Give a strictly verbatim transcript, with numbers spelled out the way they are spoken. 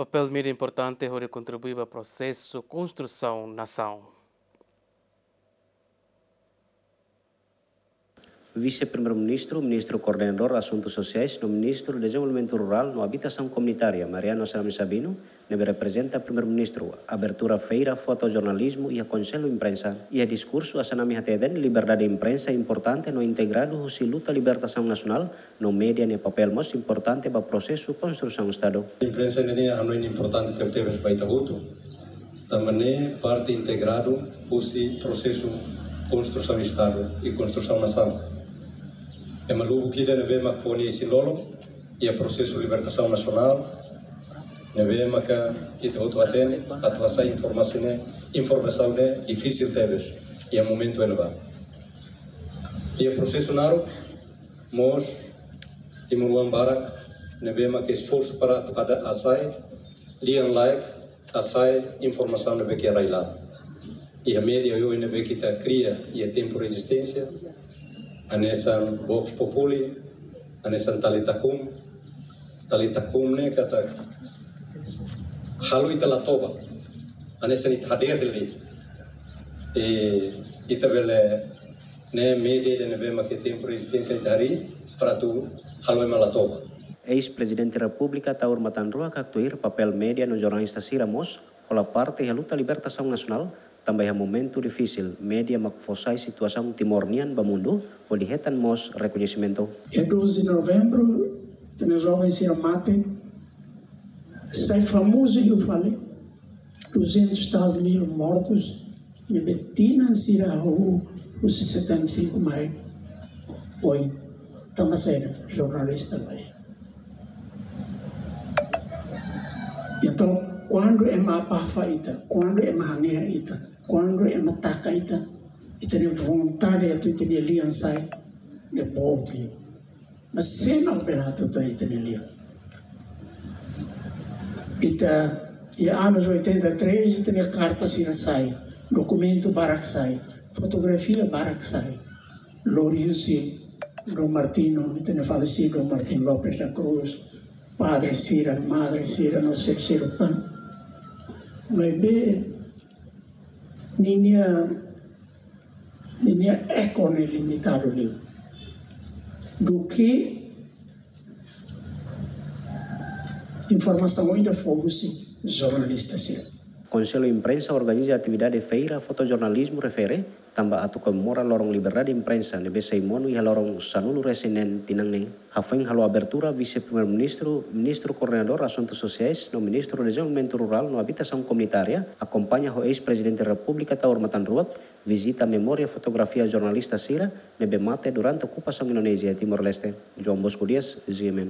Papél mídia importante hodi kontribui ba prosesu konstrusaun nasaun. Vise-Primeiru-Ministru, Ministru Koordenadór Asuntu Sosiais no Ministru Dezenvolvimentu Rurál no Abitasaun Komunitária, Mariano Assanami Sabino, ne'ebé reprezenta Primeiru-Ministru, abertura feira fotojornalizmu iha Konsellu Imprensa. Iha diskursu, Assanami hateten liberdade imprensa importante no integradu husi luta libertasaun nasionál, no média nia papél mós importante ba prosesu konstrusaun Estadu. Imprensa ne'e hanoin importante tebetebes ba ita hotu. Tanba ne'e parte integradu husi prosesu konstrusaun Estadu i konstrusaun nasaun. Ema lubuk ida ne'ebé mak fó nia isin-lolon iha prosesu libertasaun nasionál, ne'ebé maka ita hotu hatene, atu hasai informasaun ne'e, informasaun ne'e difisil tebes iha momentu ne'ebá. Iha prosesu naruk mós timoroan barak ne'ebé maka esforsu para atu kada hasai, lian live, hasai informasaun ne'ebé ke rai-laran. Iha média oioin ne'ebé ke ita kria iha tempu rezisténsia, hanesan Vox Populi, hanesan Thalita Cum, Thalita Cum ne'e katak halo ita la toba, hanesan ita hadeer hela de'it. I ita bele ne'e média ida ne'ebé mak iha tempu rezisténsia ita harii para atu halo ema la toba. Eis-Prezidente Repúblika Taur Matan Ruak haktuir papél média no jornalista sira mós hola parte iha luta libertasaun nasionál, tanba iha momentu difisil, média mak fó sai situasaun Timor nian ba mundu, hodi hetan mós rekoñesimentu. Iha doze de novembro, ita-nia joven sira mate, sai famozu liu fali, duzentos tal mil mortos, ne'ebé tinan sira hahú husi setenta e cinco mai oin, tanba saida? Jornalista la iha. Entaun, kuandu ema abafa ita, kuandu ema hanehan ita, kuandu ema taka ita, ita-nia vontade atu ita-nia lian sai, ne'e boot liu. Mas sé mak bele hatutan ita-nia lian? Ita, iha anos oitenta e três, ita-nia karta sira sai, dokumentu barak sai, fotografia barak sai. Lori husi Dom Martinho, ita-nia falesidu Dom Martinho Lopes da Cruz, padre sira, madre sira, no ser, ser humano. Maibé, ninia, ninia eko ne'e limitadu liu. Duké informasaun ida fó husi jornalista sira. Konsellu Imprensa organiza atividade feira fotojornalizmu refere, tanba atu komemora loron liberdade imprensa ne'ebé sei monu iha loron sanulu-resin-neen tinan ne'e. Hafoin halo abertura, Vise-Primeiru-Ministru, Ministru Koordenadór Asuntu Sosiais no Ministru Dezenvolvimentu Rurál no Abitasaun Komunitária, akompaña ho Eis-Prezidente Repúblika Taur Matan Ruak, vizita memória fotografia jornalista sira ne'ebé mate durante okupasaun Indonézia Timor-Leste. João Bosco Dias, G M N.